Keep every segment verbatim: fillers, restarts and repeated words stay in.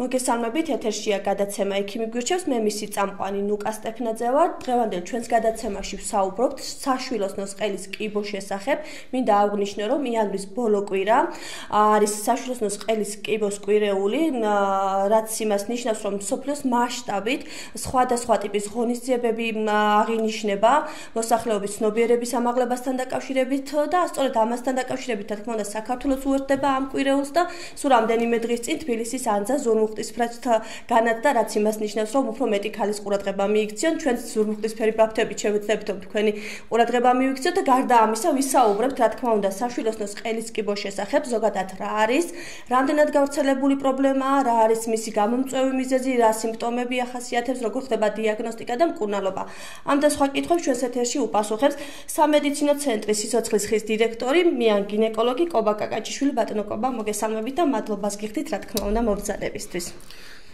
მოგესალმებით, ეთერშია გადაცემა ექიმი გვირჩევს, მე მისი წამყვანი ნუკა სტეფნაძე ვარ. დღევანდელ ჩვენს გადაცემაში ვსაუბრობთ საშვილოს ნოსყელის კიბოს შესახებ. მინდა აღვნიშნო, რომ იანვრის ბოლო კვირა არის საშვილოს ნოსყელის კიბოს კვირეული, რაც იმას ნიშნავს, რომ მსოფლიოს მასშტაბით სხვადასხვა ტიპის ღონისძიებები აღინიშნება მოსახლეობის ცნობიერების ამაღლებასთან დაკავშირებით და სწორედ ამასთან დაკავშირებით, რა თქმა უნდა, საქართველოს უერთდება ამ კვირეულს და სულ რამდენიმე დღის წინ თბილისის ანძა ზურმუხტისფრეთთ განათდა, რაც იმას ნიშნავს, რომ უფრო მეტი ქალის ყურადღება მიიქციონ. ჩვენც ზურმუხტისფერი ბაფთებით შევეცდებით, რომ თქვენი ყურადღება მიიქციოთ და გარდა ამისა ვისაუბრებთ, რა თქმა უნდა, საშვილოს ნოსყელის კიბოს შესახებ, ზოგადად რა არის, რამდენად გავრცელებული პრობლემაა, რა არის მისი გამომწვევი მიზეზი, რა სიმპტომები ახასიათებს, როგორ ხდება დიაგნოსტიკა და მკურნალობა. ამ და სხვა კითხვებს ჩვენს ეთერში უპასუხებს სამედიცინო ცენტრის სიცოცხლის ხის დირექტორი, მიან გინეკოლოგი კობა კაკაჭიშვილი. ბატონო კობა, მოგესალმებით და მადლობას გიხდით, რა თქმა უნდა, მობრძანებისთვის.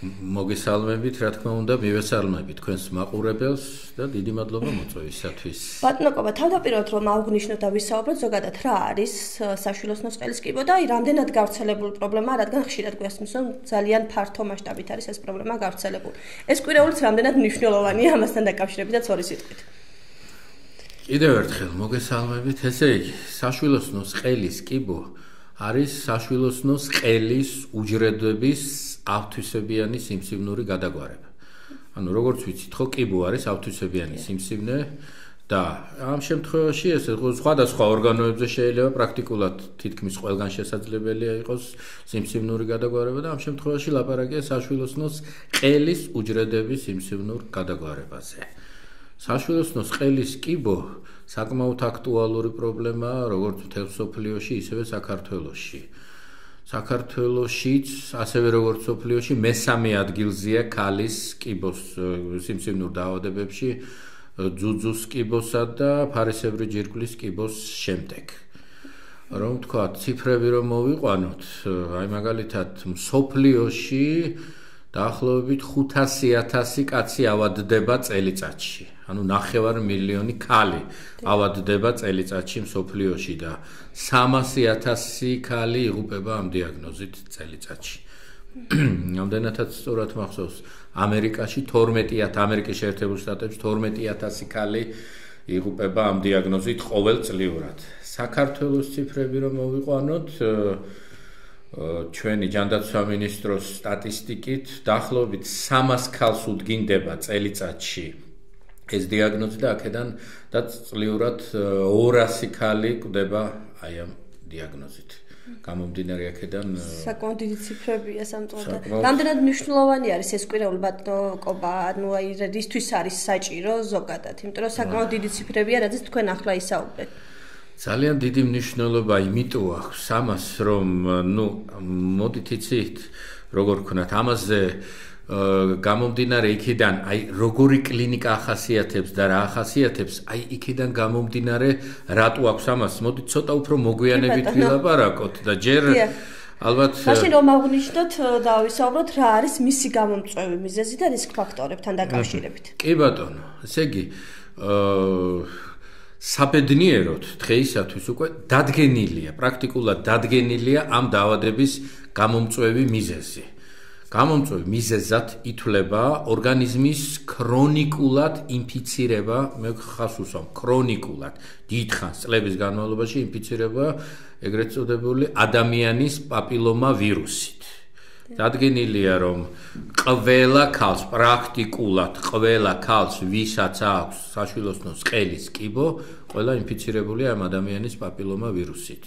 მოგესალმებით, რა თქმა უნდა, მივესალმებით თქვენს მაყურებელს და დიდი მადლობა მოწვევისათვის. ბატონო კობა, თავდაპირველად რომ ავგნიშნოთ და ვისაუბროთ, ზოგადად რა არის საშვილოს ნოსყელის კიბო და აი რამდენად გავრცელებული პრობლემაა, რადგან ხშირად გვესმის, რომ ძალიან ფართო მასშტაბით არის ეს პრობლემა გავრცელებული. ეს კვირეულიც რამდენად მნიშვნელოვანია ამასთან დაკავშირებითაც ორი სიტყვით. კიდევ ერთხელ მოგესალმებით, ესე იგი, საშვილოს ნოსყელის კიბო არის საშვილოს ნოსყელის უჯრედების ავთვისებიანი სიმსივნური გადაგვარება. ანუ როგორც ვიცით, ხო, კიბო არის ავთვისებიანი სიმსივნე და ამ შემთხვევაში ეს სხვადასხვა ორგანოებზე შეიძლება პრაქტიკულად თითქმის ყველგან შესაძლებელია იყოს სიმსივნური გადაგვარება და ამ შემთხვევაში ლაპარაკია საშვილოს ნოსყელის უჯრედების სიმსივნურ გადაგვარებაზე. საშვილოს ნოსყელის კიბო საკმაოდ აქტუალური პრობლემაა როგორც მთელ მსოფლიოში, ისევე საქართველოში. საქართველოშიც, ასევე როგორც მსოფლიოში, მესამე ადგილზეა ქალის კიბოს სიმსივნურ დაავადებებში, ძუძუს კიბოსა და ფარისებრი ჯირკვლის კიბოს შემდეგ. რომ თქვა, ციფრები რომ მოვიყვანოთ, აი მაგალითად მსოფლიოში დაახლოებით ხუთასი ათასი კაცი ავადდება წელიწადში. ანუ ნახევარ მილიონი ქალი ავადდება წელიწადში მსოფლიოში და სამასი ათასი ქალი იღუპება ამ დიაგნოზით წელიწადში. რამდენადაც სწორად მახსოვს, ამერიკაში თორმეტი ათასი, ამერიკის შეერთებულ შტატებში თორმეტი ათასი ქალი იღუპება ამ დიაგნოზით ყოველწლიურად. საქართველოს ციფრები რომ მოვიყვანოთ, ჩვენი ჯანდაცვა მინისტროს სტატისტიკით დაახლოებით სამას ქალს უდგინდება წელიწადში ეს დიაგნოზი და აქედან და წლიურად ორასი ქალი კვდება აი ამ დიაგნოზით. გამომდინარე აქედან საკმაოდ დიდი ციფრებია სამწუხაროდ. რამდენად მნიშვნელოვანი არის ეს კვირეული ბატონო კობა, ანუ აი რისთვის არის საჭირო ზოგადად, იმიტომ რომ საკმაოდ დიდი ციფრებია, რაზეც თქვენ ახლა ისაუბრეთ. ძალიან დიდი მნიშვნელობა იმიტომ აქვს ამას, რომ ნუ მოდით იცით, როგორ ვქნათ, ამაზე გამომდინარე იქიდან, აი როგორი კლინიკა ახასიათებს და რა ახასიათებს, აი იქიდან გამომდინარე რატო აქვს ამას, მოდით ცოტა უფრო მოგვიანებით ვილაპარაკოთ და ჯერ ალბათ მაშინ რომ აღვნიშნოთ და ვისაუბროთ რა არის მისი გამომწვევი მიზეზი და რისკ ფაქტორებთან დაკავშირებით. კი ბატონო, ესე იგი, საბედნიეროდ დღეისათვის უკვე დადგენილია, პრაქტიკულად დადგენილია ამ დაავადების გამომწვევი მიზეზი. გამომწვევი მიზეზად ითვლება ორგანიზმის ქრონიკულად ინფიცირება, მე ხას უსვამ, ქრონიკულად, დიდხანს წლების განმავლობაში ინფიცირება ეგრეთ წოდებული ადამიანის პაპილომა ვირუსით. დადგენილია, რომ ყველა ქალს, პრაქტიკულად ყველა ქალს, ვისაც აქვს საშვილოს ნოსყელის კიბო, ყველა ინფიცირებულია ამ ადამიანის პაპილომა ვირუსით.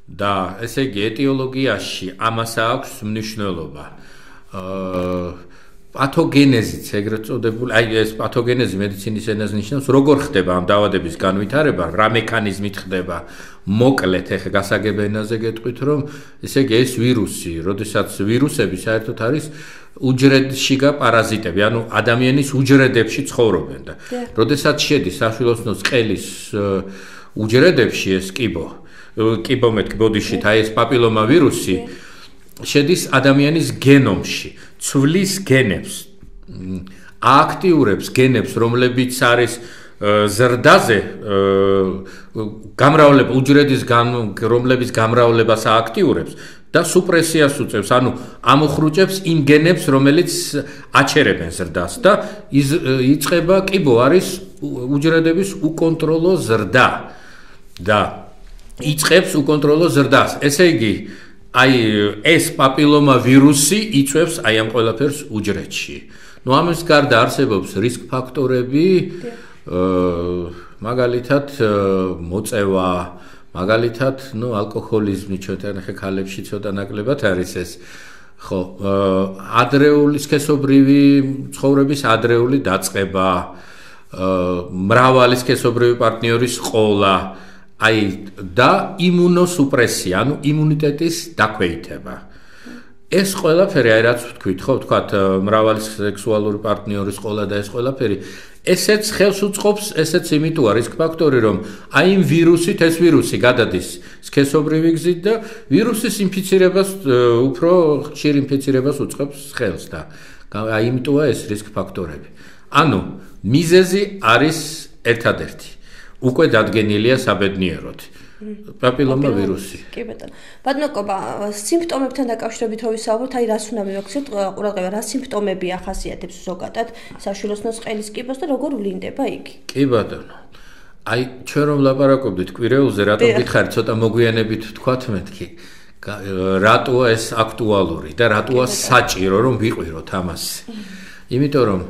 და ესე იგი ეტიოლოგიაში ამას აქვს მნიშვნელობა. პათოგენეზიც ეგრეთ წოდებული, აი ეს პათოგენეზი მედიცინის ენაზე ნიშნავს, როგორ ხდება ამ დაავადების განვითარება, რა მექანიზმით ხდება. მოკლედ, ეხლა გასაგებ ენაზე გეტყვით, რომ ესე იგი ეს ვირუსი, როდესაც ვირუსები საერთოდ არის უჯრედშიგა პარაზიტები, ანუ ადამიანის უჯრედებში ცხოვრობენ და როდესაც შედის საშვილოს ნოსყელის უჯრედებში ეს კიბო, კიბო მეთქი ბოდიში, აი ეს პაპილომა ვირუსი შედის ადამიანის გენომში, ცვლის გენებს, აქტიურებს გენებს, რომლებიც არის ზრდაზე გამრავლება უჯრედის რომლების გამრავლებას აქტიურებს და სუპრესიას უწევს, ანუ ამოხრუჭებს იმ გენებს, რომელიც აჩერებენ ზრდას და იწყება კიბო არის უჯრედების უკონტროლო ზრდა და იწყებს უკონტროლო ზრდას. ესე იგი, აი ეს პაპილომა ვირუსი იწვევს აი ამ ყველაფერს უჯრედში. ნუ ამის გარდა არსებობს რისკ ფაქტორები, მაგალითად მოწევა, მაგალითად, ნუ ალკოჰოლიზმი ჩვენთან ხე ქალებში ცოტა ნაკლებად არის ეს. ხო, ადრეული სქესობრივი ცხოვრების ადრეული დაწყება, მრავალი სქესობრივი პარტნიორის ყოლა, აი და იმუნოსუპრესია, ანუ იმუნიტეტის დაქვეითება. ეს ყველაფერი, აი რაც ვთქვით, ხო, ვთქვათ, მრავალი სექსუალური პარტნიორის ყოლა და ეს ყველაფერი, ესეც ხელს უწყობს, ესეც იმიტოა რისკ ფაქტორი, რომ აი იმ ვირუსით, ეს ვირუსი გადადის სქესობრივი გზით და ვირუსის ინფიცირებას, უფრო ხშირ ინფიცირებას უწყობს ხელს და აი იმიტოა ეს რისკ ფაქტორები. ანუ მიზეზი არის ერთადერთი. უკვე დადგენილია საბედნიეროდ. პაპილომა ვირუსი. კი ბატონო. ბატონო კობა, სიმპტომებთან დაკავშირებით რო ვისაუბროთ, აი რას უნდა მივაქციოთ ყურადღება, რა სიმპტომები ახასიათებს ზოგადად საშვილოსნოს ყელის კიბოს და როგორ ვლინდება იგი? კი ბატონო. აი ჩვენ რომ ლაპარაკობდით კვირეულზე, რატომ გითხარით, ცოტა მოგვიანებით ვთქვათ მეთქი. რატოა ეს აქტუალური და რატოა საჭირო რომ ვიყვიროთ ამას? იმიტომ რომ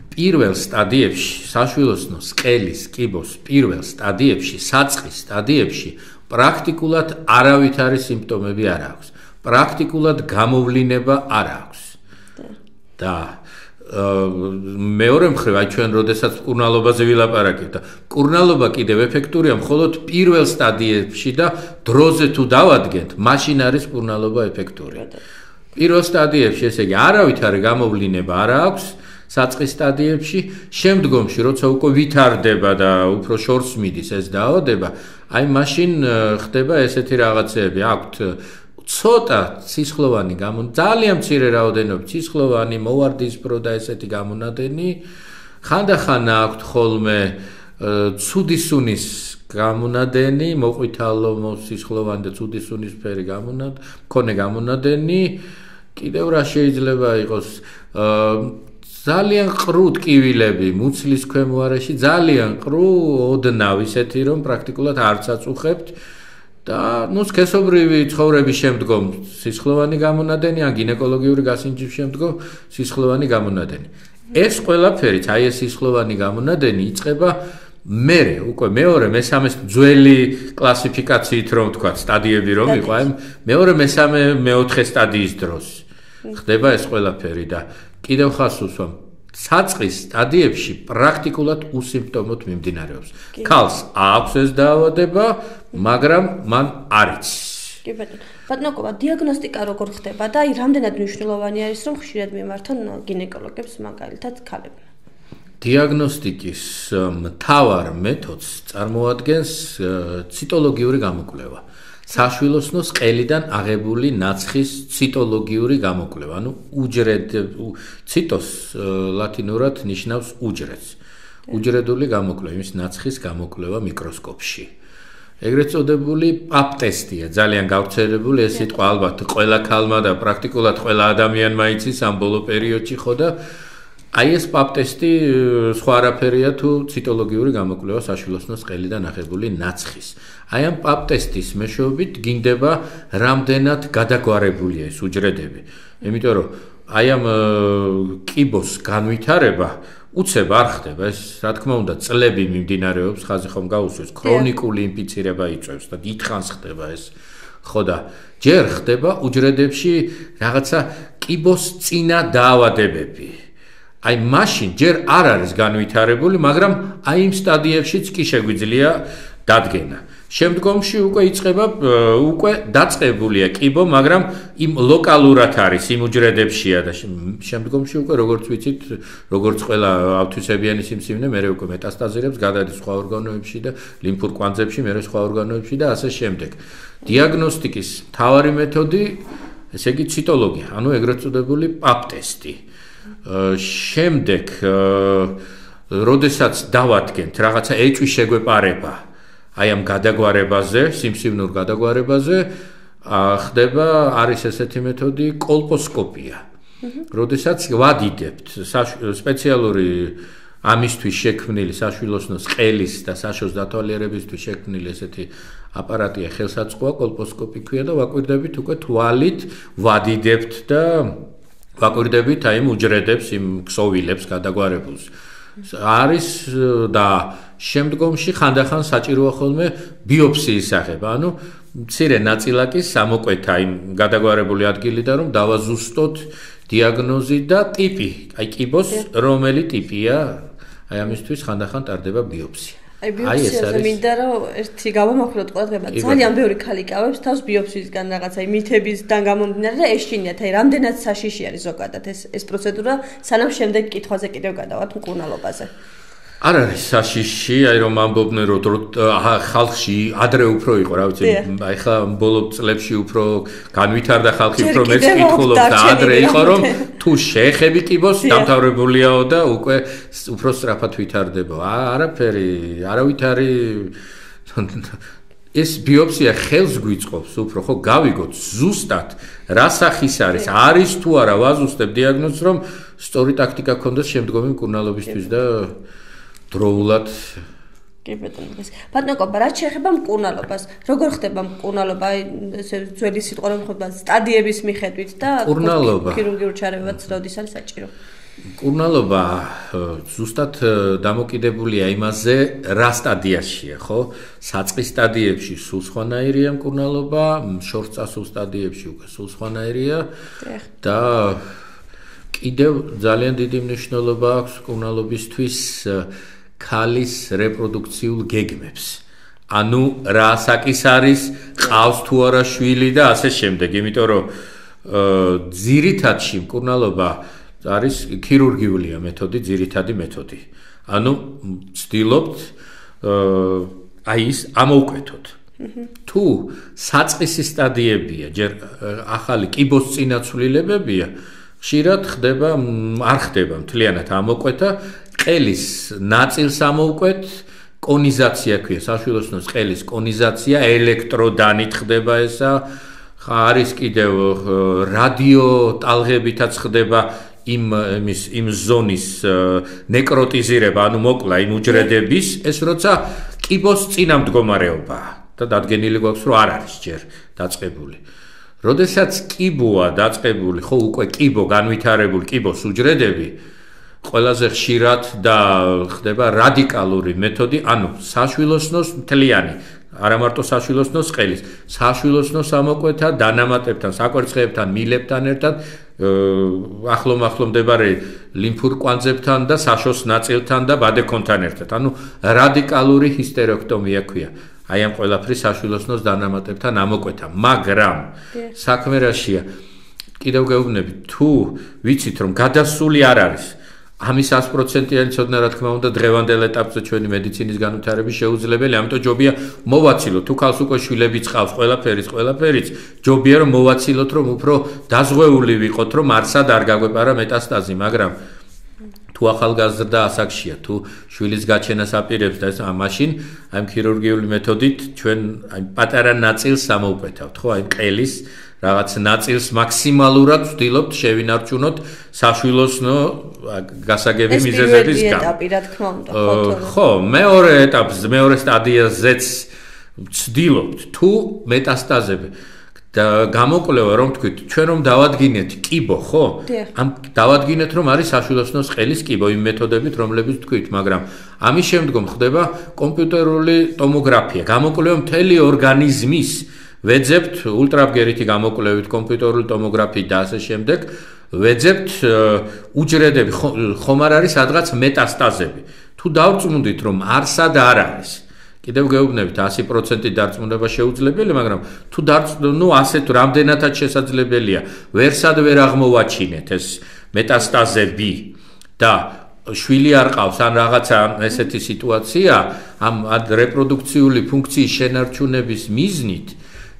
პირველ სტადიებში, საშვილოსნოს ყელის კიბოს პირველ სტადიებში, საწყის სტადიებში პრაქტიკულად არავითარი სიმპტომები არ აქვს. პრაქტიკულად გამოვლინება არ აქვს. და მეორე მხრივ, აი ჩვენ როდესაც მკურნალობაზე ვილაპარაკებთ და მკურნალობა კიდევ ეფექტურია მხოლოდ პირველ სტადიებში და დროზე თუ დავადგენთ, მაშინ არის მკურნალობა ეფექტური. პირველ სტადიებში, ესე იგი, არავითარი გამოვლინება არ აქვს. საწყის სტადიებში, შემდგომში, როცა უკვე ვითარდება და უფრო შორს მიდის ეს დაავადება, აი მაშინ ხდება ესეთი რაღაცეები, აქვთ ცოტა ცისხლოვანი გამონ, ძალიან მცირე რაოდენობით ცისხლოვანი, მოვარდისფრო და ესეთი გამონადენი, ხანდახან აქვთ ხოლმე ცუდი სუნის გამონადენი, მოყვითალო, ცისხლოვანი და ცუდი სუნისფერი გამონადენი, მქონე გამონადენი, კიდევ რა შეიძლება იყოს, ძალიან ყრუ ტკივილები მუცლის ქვემო არეში, ძალიან ყრუ ოდნავ ისეთი, რომ პრაქტიკულად არც აწუხებთ და ნუ სქესობრივი ცხოვრების შემდგომ სისხლოვანი გამონადენი, ან გინეკოლოგიური გასინჯის შემდგომ სისხლოვანი გამონადენი. ეს ყველაფერიც, აი ეს სისხლოვანი გამონადენი იწყება მერე, უკვე მეორე, მესამე ძველი კლასიფიკაციით რომ ვთქვათ, სტადიები რომ იყო, აი მეორე, მესამე, მეოთხე სტადიის დროს ხდება ეს ყველაფერი და კიდევ ხას უსვამ, საწყის სტადიებში პრაქტიკულად უსიმპტომოდ მიმდინარეობს. ქალს აქვს ეს დაავადება, მაგრამ მან არ იცის. კი ბატონო. ბატონო კობა, დიაგნოსტიკა როგორ ხდება და აი რამდენად მნიშვნელოვანი არის, რომ ხშირად მიმართონ გინეკოლოგებს მაგალითად ქალები? დიაგნოსტიკის მთავარ მეთოდს წარმოადგენს ციტოლოგიური გამოკვლევა. საშვილოსნოს ყელიდან აღებული ნაცხის ციტოლოგიური გამოკვლევა, ანუ უჯრედ ციტოს ლათინურად ნიშნავს უჯრედს. უჯრედული გამოკვლევა, იმის ნაცხის გამოკვლევა მიკროსკოპში. ეგრეთ წოდებული პაპ ტესტია, ძალიან გავრცელებული ეს სიტყვა ალბათ ყველა ქალმა და პრაქტიკულად ყველა ადამიანმა იცის ამ ბოლო პერიოდში ხო და აი ეს პაპ ტესტი სხვა არაფერია თუ ციტოლოგიური გამოკვლევა საშვილოსნოს ყელიდან აღებული ნაცხის. აი ამ პაპ ტესტის მეშვეობით გინდება რამდენად გადაგვარებულია ეს უჯრედები. იმიტომ რომ აი ამ კიბოს განვითარება უცებ არ ხდება, ეს რა თქმა უნდა წლები მიმდინარეობს, ხაზი ხომ გაუსვეს, ქრონიკული ინფიცირება იწვევს და დიდხანს ხდება ეს. ხო და ჯერ ხდება უჯრედებში რაღაცა კიბოს წინა დაავადებები. აი მაშინ ჯერ არ არის განვითარებული, მაგრამ აი იმ სტადიებშიც კი შეგვიძლია დადგენა. შემდგომში უკვე იწყება, უკვე დაწყებულია კიბო, მაგრამ იმ ლოკალურად არის, იმ უჯრედებშია და შემდგომში უკვე როგორც ვიცით, როგორც ყველა ავთვისებიანი სიმსივნე, მე უკვე მეტასტაზირებს, გადადის სხვა ორგანოებში და ლიმფურ კვანძებში, მე სხვა ორგანოებში და ასე შემდეგ. დიაგნოსტიკის მთავარი მეთოდი, ესე იგი ციტოლოგია, ანუ ეგრეთ წოდებული პაპ ტესტი. შემდეგ, როდესაც დავადგენთ რაღაცა ეჭვი შეგვეპარება, აი ამ გადაგვარებაზე, სიმსივნურ გადაგვარებაზე, ხდება არის ესეთი მეთოდი კოლპოსკოპია. როდესაც ვადიდებთ სპეციალური ამისთვის შექმნილი საშვილოსნოს ყელის და საშოს დათვალიერებისთვის შექმნილი ესეთი აპარატია ხელსაწყოა კოლპოსკოპი ქვია და ვაკვირდებით უკვე თვალით ვადიდებთ და ვაკვირდებით აი უჯრედებს იმ ქსოვილებს გადაგვარებულს არის და შემდგომში ხანდახან საჭიროა ხოლმე ბიოფსიის სახება ანუ მცირე ნაწილაკის სამოკვეთა იმ გადაგვარებული ადგილიდან რომ დავაზუსტოთ დიაგნოზი და ტიპი აი კიბოს რომელი ტიპია აი ამისთვის ხანდახან ტარდება ბიოფსია აი ბიოფსიაზე მინდა რომ ერთი გავამახვილოთ ყურადღება ძალიან ბევრი ხალი კავებს თავს ბიოფსიისგან რაღაცა იმითებისგან გამომდინარე და ეშინიათ აი რამდენად საშიში არის ზოგადად ეს ეს პროცედურა სანამ შემდეგ კითხვაზე კიდევ გადავართ მკურნალობაზე არ არის საშიში, აი რომ ამბობდნენ რომ ხალხში ადრე უფრო იყო, რა ვიცი, აი ხა ბოლო წლებში უფრო განვითარდა ხალხი, უფრო მეც კითხულობს და ადრე იყო რომ თუ შეეხები კიბოს დამთავრებულიაო და უკვე უფრო სწრაფად ვითარდება. არაფერი, არავით არის ეს ბიოფსია ხელს გვიწყობს უფრო ხო გავიგოთ ზუსტად რა სახის არის, არის თუ არა ვაზუსტებ დიაგნოზს რომ სწორი ტაქტიკა გქონდეს შემდგომი მკურნალობისთვის და დროულად კი ბატონო ეს ბატონო რაც შეეხება მკურნალობას როგორ ხდება მკურნალობა ესე ძველი სიტყვა რომ ხდება სტადიების მიხედვით და ქირურგიულ ჩარევაც როდის არის საჭირო მკურნალობა ზუსტად დამოკიდებულია იმაზე რა სტადიაშია ხო საწყის სტადიებში სულ სხვანაირია მკურნალობა შორს წასულ სტადიებში უკვე სულ სხვანაირია და კიდევ ძალიან დიდი მნიშვნელობა აქვს მკურნალობისთვის ქალის რეპროდუქციულ გეგმებს. ანუ რა საკის არის, ყავს თუ არა შვილი და ასე შემდეგ, იმიტომ რომ ძირითადში მკურნალობა არის ქირურგიულია მეთოდი, ძირითადი მეთოდი. ანუ ვცდილობთ აი ის ამოვკვეთოთ. თუ საწყისი სტადიებია, ჯერ ახალი კიბოს წინაცვლილებებია, ხშირად ხდება არ ხდება მთლიანად ამოკვეთა ყელის ნაწილს ამოვკვეთ კონიზაცია ქვია საშვილოსნოს ყელის კონიზაცია ელექტროდანით ხდება ესა არის კიდევ რადიო ტალღებითაც ხდება იმ იმის იმ ზონის ნეკროტიზირება ანუ მოკლა იმ უჯრედების ეს როცა კიბოს წინამდგომარეობაა და დადგენილი გვაქვს რომ არ არის ჯერ დაწყებული როდესაც კიბოა დაწყებული ხო უკვე კიბო განვითარებული კიბოს უჯრედები ყველაზე ხშირად და ხდება რადიკალური მეთოდი, ანუ საშვილოსნოს მთლიანი, არა მარტო საშვილოსნოს ყელის, საშვილოსნოს ამოკვეთა დანამატებთან, საკვერცხებთან, მილებთან ერთად, ახლო-ახლო მდებარე ლიმფურ კვანძებთან და საშოს ნაწილთან და ბადეკონთან ერთად. ანუ რადიკალური ჰისტერექტომია ქვია. აი ამ ყველაფრის საშვილოსნოს დანამატებთან ამოკვეთა, მაგრამ საქმე რაშია? კიდევ გეუბნები, თუ ვიცით რომ გადასული არ არის ამის sto პროცენტიანი ცოდნა რა თქმა უნდა დღევანდელ ეტაპზე ჩვენი მედიცინის განვითარების შეუძლებელი, ამიტომ ჯობია მოვაცილოთ, თუ ქალს უკვე შვილები წყავს, ყველაფერიც, ყველაფერიც, ჯობია რომ მოვაცილოთ, რომ უფრო დაზღვეული ვიყოთ, რომ არსად არ გაგვეპარა მეტასტაზი, მაგრამ თუ ახალგაზრდა ასაკშია, თუ შვილის გაჩენას აპირებს და ეს მაშინ აი ქირურგიული მეთოდით ჩვენ აი პატარა ნაწილს ამოვკვეთავთ, ხო, აი ყელის რაღაც ნაწილს მაქსიმალურად ვცდილობთ შევინარჩუნოთ საშვილოსნო გასაგები მიზეზების გამო. ეს პირველი ეტაპი რა თქმა უნდა, ხო, ხო, მეორე ეტაპზე, მეორე სტადიაზეც ვცდილობთ თუ მეტასტაზები და გამოკვლევა რომ თქვით, ჩვენ რომ დავადგინეთ კიბო, ხო? ამ დავადგინეთ რომ არის საშვილოსნოს ყელის კიბო იმ მეთოდებით, რომლებიც თქვით, მაგრამ ამის შემდგომ ხდება კომპიუტერული ტომოგრაფია, გამოკვლევა მთელი ორგანიზმის ვეძებთ ულტრაბგერითი გამოკვლევით კომპიუტერული ტომოგრაფიით და ასე შემდეგ ვეძებთ უჯრედები ხომ არ არის სადღაც მეტასტაზები თუ დავწმუნდით რომ არსად არ არის კიდევ გეუბნებით sto პროცენტი დარწმუნება შეუძლებელია მაგრამ თუ ნუ ასე თუ რამდენადაც შესაძლებელია ვერსად ვერ აღმოვაჩინეთ ეს მეტასტაზები და შვილი არ ყავს ან რაღაცა ესეთი სიტუაცია ამ რეპროდუქციული ფუნქციის შენარჩუნების მიზნით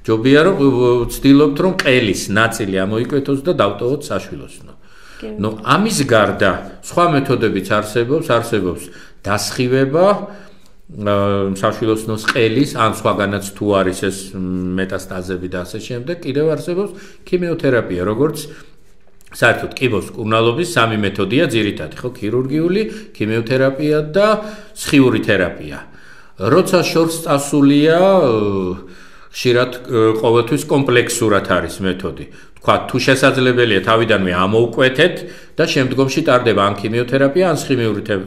ჯობია რომ ვცდილობთ რომ ყელის ნაწილი ამოიკვეთოს და დავტოვოთ საშვილოსნო. ნუ ამის გარდა სხვა მეთოდებიც არსებობს, არსებობს დასხივება საშვილოსნოს ყელის ან სხვაგანაც თუ არის ეს მეტასტაზები და ასე შემდეგ, კიდევ არსებობს ქიმიოთერაპია, როგორც საერთოდ კიბოს მკურნალობის სამი მეთოდია ძირითადი, ხო, ქირურგიული, ქიმიოთერაპია და სხიური თერაპია. როცა შორს წასულია, ხშირად ყოველთვის კომპლექსურად არის მეთოდი. თქვა, თუ შესაძლებელია თავიდანვე ამოუკვეთეთ და შემდგომში ტარდება ან ქიმიოთერაპია, ან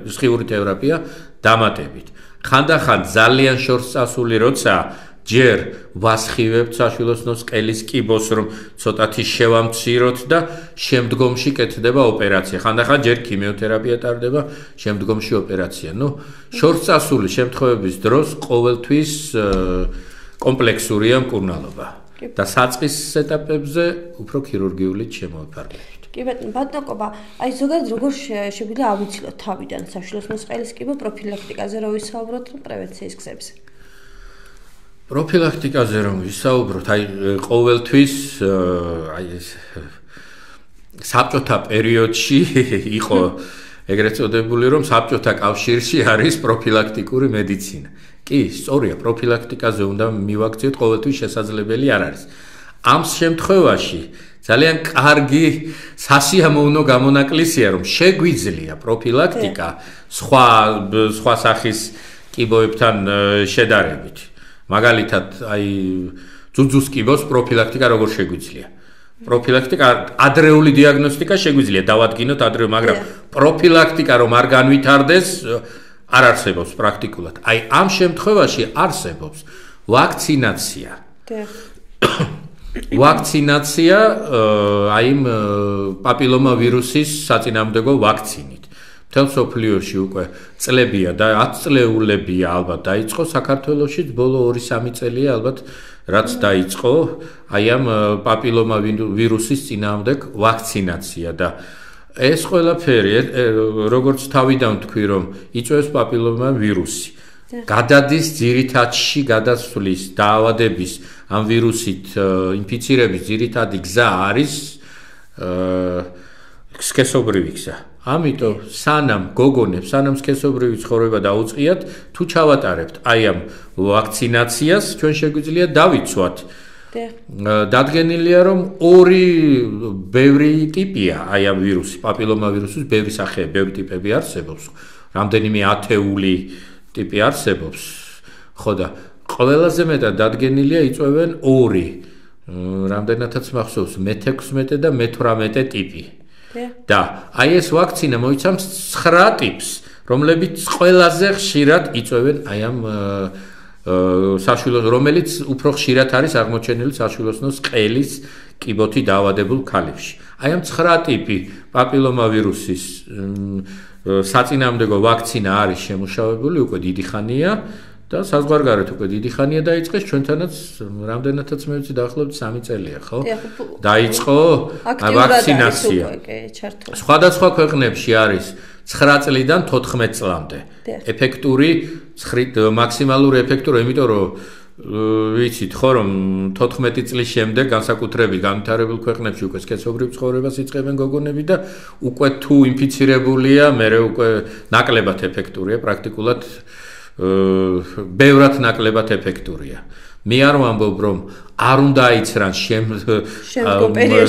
სხიური თერაპია დამატებით. ხანდახან ძალიან შორს წასული როცა ჯერ ვასხივებთ საშვილოსნოს ყელის კიბოს, რომ ცოტათი შევამციროთ და შემდგომში კეთდება ოპერაცია. ხანდახან ჯერ ქიმიოთერაპია ტარდება, შემდგომში ოპერაცია. ნუ შორს წასული შემთხვევების დროს ყოველთვის კომპლექსურია მკურნალობა და საწყის ეტაპებზე უფრო ქირურგიული შემოიფარგლებით. კი ბატონო, ბატონობა, აი ზოგადად როგორ შეგვიძლია ავიცილოთ თავიდან საშვილოსნოს ყელის კიბო პროფილაქტიკაზე რო ვისაუბროთ, პრევენციის გზებზე. პროფილაქტიკაზე რომ ვისაუბროთ, აი ყოველთვის აი ეს საბჭოთა პერიოდში იყო ეგრეთ წოდებული, რომ საბჭოთა კავშირში არის პროფილაქტიკური მედიცინა. კი, სწორია, პროფილაქტიკაზე უნდა მივაქციოთ, ყოველთვის შესაძლებელი არ არის. ამ შემთხვევაში ძალიან კარგი სასიამოვნო გამონაკლისია, რომ შეგვიძლია პროფილაქტიკა სხვა სხვა სახის კიბოებთან შედარებით. მაგალითად, აი ძუძუს კიბოს პროფილაქტიკა როგორ შეგვიძლია? პროფილაქტიკა, ადრეული დიაგნოსტიკა შეგვიძლია დავადგინოთ ადრე, მაგრამ პროფილაქტიკა რომ არ განვითარდეს, არ არსებობს პრაქტიკულად. აი ამ შემთხვევაში არსებობს ვაქცინაცია. ვაქცინაცია აი პაპილომა ვირუსის საწინააღმდეგო ვაქცინით. მთელ მსოფლიოში უკვე წლებია და ათწლეულებია ალბათ დაიწყო, საქართველოშიც ბოლო ორი სამი წელია ალბათ რაც დაიწყო აი ამ პაპილომა ვირუსის წინააღმდეგ ვაქცინაცია და ეს ყველაფერი როგორც თავიდან თქვი რომ იწვევს პაპილომა ვირუსი. გადადის ძირითადში გადასვლის დაავადების ამ ვირუსით ინფიცირების ძირითადი გზა არის სქესობრივი გზა. ამიტომ სანამ გოგონებს, სანამ სქესობრივი ცხოვრება დაუწყიათ, თუ ჩავატარებთ აი ამ ვაქცინაციას, ჩვენ შეგვიძლია დავიცვათ. დადგენილია რომ ორი ბევრი ტიპია აი ამ ვირუსი, პაპილომა ვირუსის ბევრი სახეა, ბევრი ტიპები არსებობს. რამდენიმე ათეული ტიპი არსებობს. ხო და ყველაზე მეტად დადგენილია იწვევენ ორი. რამდენადაც მახსოვს, მეთექვსმეტე და მეთვრამეტე ტიპი. და აი ეს ვაქცინა მოიცავს ცხრა ტიპს, რომლებიც ყველაზე ხშირად იწვევენ აი ამ საშვილოს, რომელიც უფრო ხშირად არის აღმოჩენილი საშვილოსნოს ყელის კიბოთი დაავადებულ ქალებში. აი ამ ცხრა ტიპი პაპილომა ვირუსის საწინააღმდეგო ვაქცინა არის შემუშავებული უკვე დიდი ხანია და საზღვარგარეთ უკვე დიდი ხანია დაიწყეს, ჩვენთანაც რამდენადაც მე ვიცი დაახლოებით სამი წელია, ხო? დაიწყო ვაქცინაცია. სხვადასხვა ქვეყნებში არის ცხრა წლიდან თოთხმეტ წლამდე. ეფექტური მაქსიმალური ეფექტური, იმიტომ რომ ვიცით ხო რომ თოთხმეტი წლის შემდეგ განსაკუთრებით განვითარებულ ქვეყნებში უკვე სქესობრივ ცხოვრებას იწყებენ გოგონები და უკვე თუ ინფიცირებულია, მერე უკვე ნაკლებად ეფექტურია, პრაქტიკულად ბევრად ნაკლებად ეფექტურია. მე არ ვამბობ რომ არ უნდა იცრან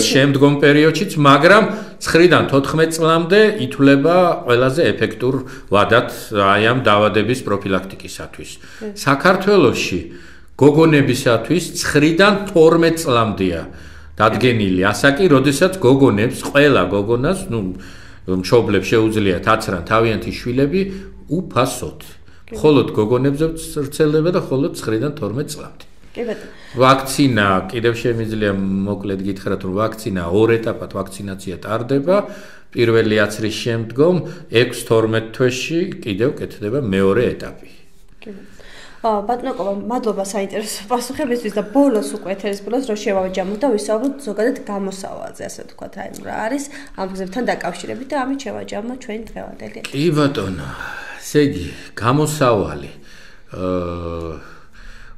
შემდგომ პერიოდშიც, მაგრამ ცხრიდან თოთხმეტ წლამდე ითვლება ყველაზე ეფექტურ ვადად აი ამ დაავადების პროფილაქტიკისათვის. საქართველოში გოგონებისათვის ცხრიდან თორმეტ წლამდეა დადგენილი ასაკი, როდესაც გოგონებს, ყველა გოგონას, ნუ მშობლებს შეუძლიათ აცრან თავიანთი შვილები უფასოდ. ხოლოდ გოგონებზე ვრცელდება და ხოლოდ ცხრიდან თორმეტ წლამდე. კი ბატონო. ვაქცინა, კიდევ შემიძლია მოკლედ გითხრათ, რომ ვაქცინა ორ ეტაპად ვაქცინაცია ტარდება. პირველი აცრის შემდგომ ექვს თორმეტ თვეში კიდევ კეთდება მეორე ეტაპი. კი ბატონო. ბატონო, მადლობა საინტერესო პასუხებისთვის და ბოლოს უკვე ეთერის ბოლოს რო შევაჯამოთ და ვისაუბროთ ზოგადად გამოსავალზე, ასე ვთქვათ, აი რა არის ამ გზებთან დაკავშირებით და ამით შევაჯამოთ ჩვენი დღევანდელი. კი ბატონო. ესე იგი, გამოსავალი. აა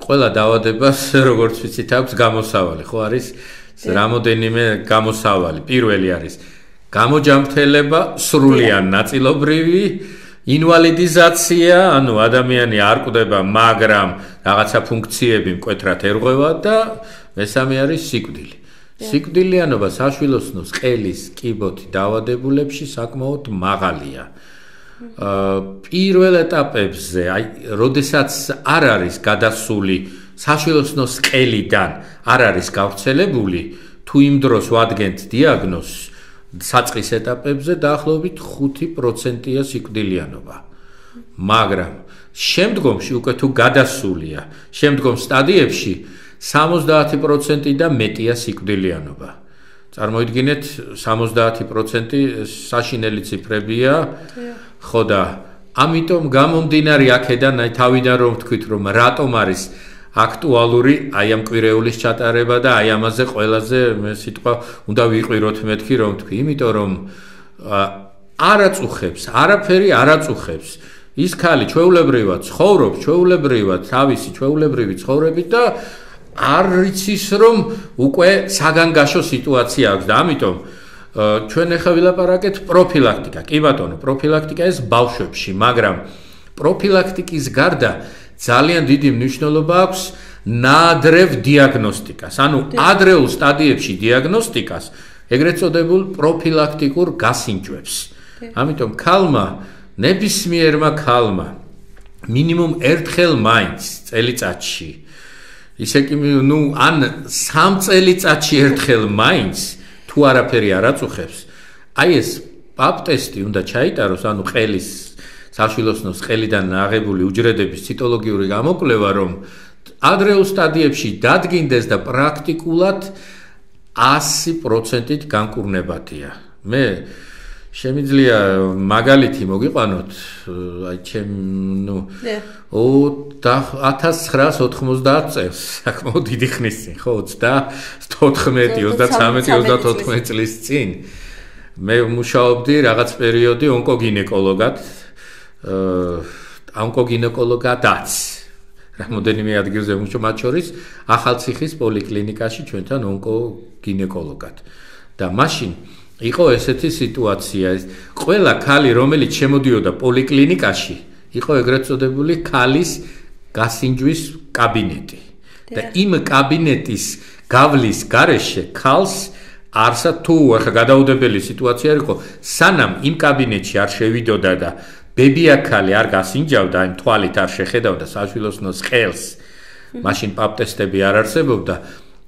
ყველა დაავადებას, როგორც ვიცით, აქვს გამოსავალი, ხო არის რამოდენიმე გამოსავალი. პირველი არის გამოჯამრთელება, სრულიან ნაწილობრივი, ინვალიდიზაცია, ანუ ადამიანი არ კვდება, მაგრამ რაღაცა ფუნქციები მკვეთრად ერღვევა და მესამე არის სიკვდილი. სიკვდილიანობა საშვილოსნოს ყელის კიბოთი დაავადებულებში საკმაოდ მაღალია. პირველ ეტაპებზე, აი, როდესაც არ არის გადასული საშვილოსნოს ყელიდან არ არის გავრცელებული, თუ იმ დროს ვადგენთ დიაგნოზს, საწყის ეტაპებზე დაახლოებით ხუთი პროცენტია სიკვდილიანობა. მაგრამ შემდგომში უკვე თუ გადასულია, შემდგომ სტადიებში სამოცდაათი პროცენტი და მეტია სიკვდილიანობა. წარმოიდგინეთ, სამოცდაათი პროცენტი საშინელი ციფრებია, ხო და ამიტომ გამომდინარე აქედან, აი თავიდან რომ ვთქვით, რომ რატომ არის აქტუალური აი ამ კვირეულის ჩატარება და აი ამაზე ყველაზე მე სიტყვა უნდა ვიყვიროთ მეთქი რომ თქვი, იმიტომ რომ არ აწუხებს, არაფერი არ აწუხებს. ის ქალი ჩვეულებრივად ცხოვრობს, ჩვეულებრივად თავისი ჩვეულებრივი ცხოვრებით და არ იცის რომ უკვე საგანგაშო სიტუაცია აქვს და ამიტომ ჩვენ ახლა ვილაპარაკეთ პროფილაქტიკა. კი ბატონო, პროფილაქტიკა ეს ბავშვებში, მაგრამ პროფილაქტიკის გარდა ძალიან დიდი მნიშვნელობა აქვს ნაადრევ დიაგნოსტიკას, ანუ ადრეულ სტადიებში დიაგნოსტიკას, ეგრეთ წოდებულ პროფილაქტიკურ გასინჯვებს. ამიტომ ქალმა, ნებისმიერმა ქალმა, მინიმუმ ერთხელ მაინც წელიწადში, ისე კი ნუ ან სამ წელიწადში ერთხელ მაინც თუ არაფერი არ აწუხებს, აი ეს პაპ ტესტი უნდა ჩაიტაროს, ანუ ყელის საშვილოსნოს ყელიდან აღებული უჯრედების ციტოლოგიური გამოკვლევა, რომ ადრეულ სტადიებში დადგინდეს და პრაქტიკულად ასი პროცენტით განკურნებადია. მე შემიძლია მაგალითი მოგიყვანოთ, აი ჩემ ნუ ათას ცხრაას ოთხმოცდაათ წელს, საკმაოდ დიდი ხნის წინ, ხო, ოცდათოთხმეტი, ოცდათრამეტი, ოცდათოთხმეტი წლის წინ მე მუშაობდი რაღაც პერიოდი ონკოგინეკოლოგად, ონკოგინეკოლოგადაც. რამოდენიმე ადგილზე მუშაობ, მათ შორის ახალციხის პოლიკლინიკაში ჩვენთან ონკოგინეკოლოგად. და მაშინ იყო ესეთი სიტუაცია, ყველა ქალი, რომელიც შემოდიოდა პოლიკლინიკაში, იყო ეგრეთ წოდებული ქალის გასინჯვის კაბინეტი. და იმ კაბინეტის გავლის გარეშე ქალს არსა თუ ახლა გადაუდებელი სიტუაცია იყო, სანამ იმ კაბინეტში არ შევიდოდა და ბებია ქალი არ გასინჯავდა, იმ თვალით არ შეხედავდა საშვილოსნოს ყელს, მაშინ პაპ ტესტები არ არსებობდა,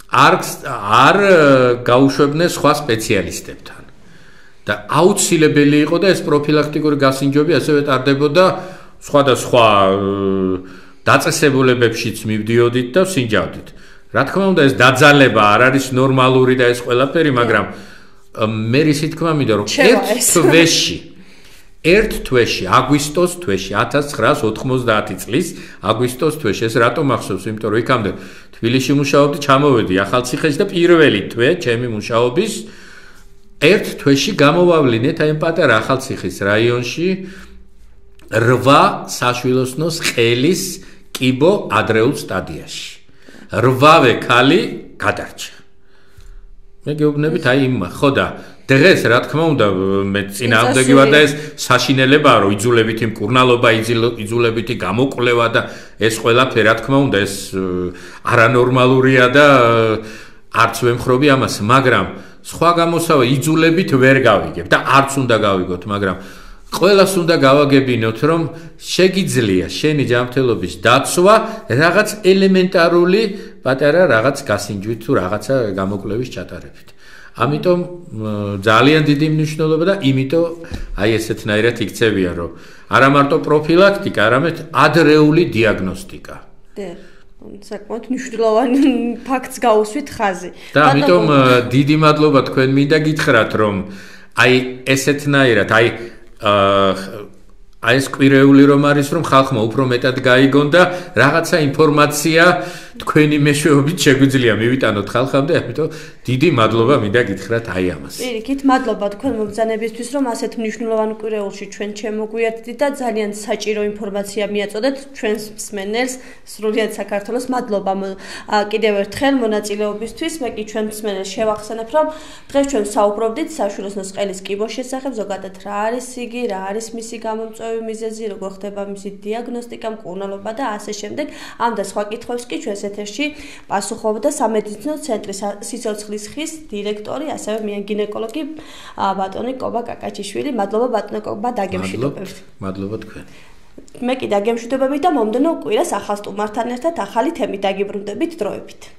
არ არ გაუშვებდნენ სხვა სპეციალისტებთან. და აუცილებელი იყო და ეს პროფილაქტიკური გასინჯვები ასევე ტარდებოდა სხვადასხვა დაწესებულებებშიც მივდიოდით და ვსინჯავდით. რა თქმა უნდა, ეს დაძალება არ არის ნორმალური და ეს ყველაფერი, მაგრამ მე რისი თქმა მინდა რომ ერთ თვეში ერთ თვეში, აგვისტოს თვეში, ათას ცხრაას ოთხმოცდაათი წლის აგვისტოს თვეში, ეს რატომ ახსოვს, იმიტომ რომ იქამდე თბილისში მუშაობდი, ჩამოვედი ახალციხეში და პირველი თვე ჩემი მუშაობის ერთ თვეში გამოვავლინეთ აი ამ პატარა ახალციხის რაიონში რვა საშვილოსნოს ყელის კიბო ადრეულ სტადიაში. რვავე ქალი გადარჩა. მე გეუბნებით აი იმ ხო და დღეს რა თქმა უნდა მე წინააღმდეგი ვარ და ეს საშინელებაა რომ იძულებითი მკურნალობა, იძულებითი გამოკვლევა და ეს ყველაფერი რა თქმა უნდა ეს არანორმალურია და არც ვემხრობი ამას, მაგრამ სხვა გამოსავა იძულებით ვერ გავიგებ და არც უნდა გავიგოთ, მაგრამ ყველას უნდა გავაგებინოთ, რომ შეგიძლია შენი ჯანმრთელობის დაცვა რაღაც ელემენტარული პატარა რაღაც გასინჯვით თუ რაღაცა გამოკვლევის ჩატარებით. ამიტომ ძალიან დიდი მნიშვნელობა და იმიტომ აი ესეთნაირად იქცევიან, რომ არა მარტო პროფილაქტიკა, არამედ ადრეული დიაგნოსტიკა. და საკმაოდ მნიშვნელოვანი ფაქტს გაუსვით ხაზი. და ამიტომ დიდი მადლობა თქვენ მინდა გითხრათ, რომ აი ესეთნაირად აი აი ეს კვირეული რომ არის, რომ ხალხმა უფრო მეტად გაიგონ და რაღაცა ინფორმაცია თქვენი მეშვეობით შეგვიძლია მივიტანოთ ხალხამდე, ამიტომ დიდი მადლობა მინდა გითხრათ აი ამას. პირიქით, მადლობა თქვენ მობრძანებისთვის, რომ ასეთ მნიშვნელოვან კვირეულში ჩვენ ჩემოგვიერთდით და ძალიან საჭირო ინფორმაცია მიაწოდეთ ჩვენს მსმენელს, სრულიად საქართველოს. მადლობა კიდევ ერთხელ მონაწილეობისთვის. მე კი ჩვენ მსმენელს შევახსენებ, რომ დღეს ჩვენ საუბრობდით საშვილოსნო სყელის კიბოს შესახებ, ზოგადად რა არის იგი, რა არის მისი გამომწვევი მიზეზი, როგორ ხდება მისი დიაგნოსტიკა, მკურნალობა და ასე შემდეგ. ამ და სხვა კითხვებს კი ჩვენს ეთერში პასუხობდა სამედიცინო ცენტრის სიცოცხლის ხის დირექტორი, ასევე მიან გინეკოლოგი ბატონი კობა კაკაჩიშვილი. მადლობა ბატონო კობა დაგემშვიდობებით. მადლობა თქვენ. მე კი დაგემშვიდობებით და მომდენო კვირას ახალ სტუმართან ერთად ახალი თემით დაგიბრუნდებით დროებით.